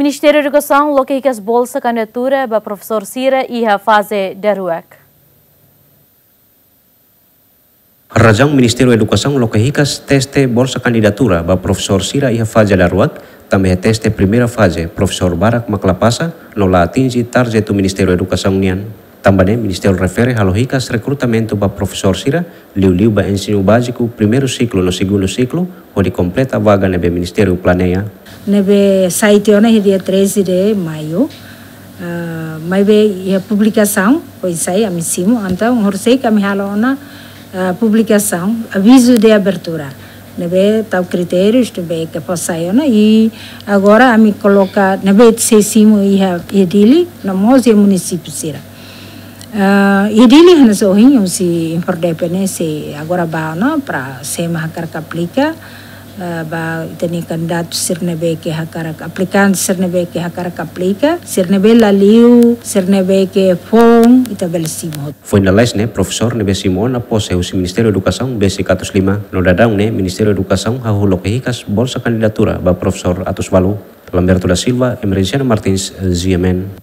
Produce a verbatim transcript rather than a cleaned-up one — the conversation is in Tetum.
Ministériu Edukasaun loke hikas bolsa kandidatura ba profesór sira iha faze daruak. Razaun Ministériu Edukasaun loke hikas teste bolsa kandidatura ba profesór sira iha faze daruak, tanba iha teste primeira faze, profesór barak mak la pasa, no la atinje tarjetu Ministériu Edukasaun nian. Tanba ne'e, Ministériu refere halo hikas rekrutamentu ba profesór sira, liuliu ba ensinu báziku, primeiru siklu no segundu siklu, hodi kompleta vaga ne'ebé Ministériu planeia. Ne'ebé sai tiha ona iha dia treze de maio, ah, maibé iha publikasaun, foin sai ami simu, entaun, horisehik ami halo ona, ah, publikasaun, avizu de abertura. Ne'ebé tau kritérius, ne'ebé ke fó sai ona, i agora ami koloka, ne'ebé sei simu iha, iha Dili, no mós iha munisípiu sira. Ah, iha Dili hanesan ohin, husi INFORDEPE ne'e sei agora ba ona, para sé mak hakarak aplika, ah, ba ita-nia kandidatu sira ne'ebé ke hakarak, aplikante sira ne'ebé ke hakarak aplika, sira ne'ebé la liu, sira ne'ebé ke foun, ita bele simu hotu. Foin lalais ne'e, profesór ne'ebé simu ona pose husi Ministériu Edukasaun besik atus lima, no daudaun ne'e Ministériu Edukasaun hahú loke hikas bolsa kandidatura ba profesór atus ualu. Lamberto da Silva, Emerenciano Martins, G M N.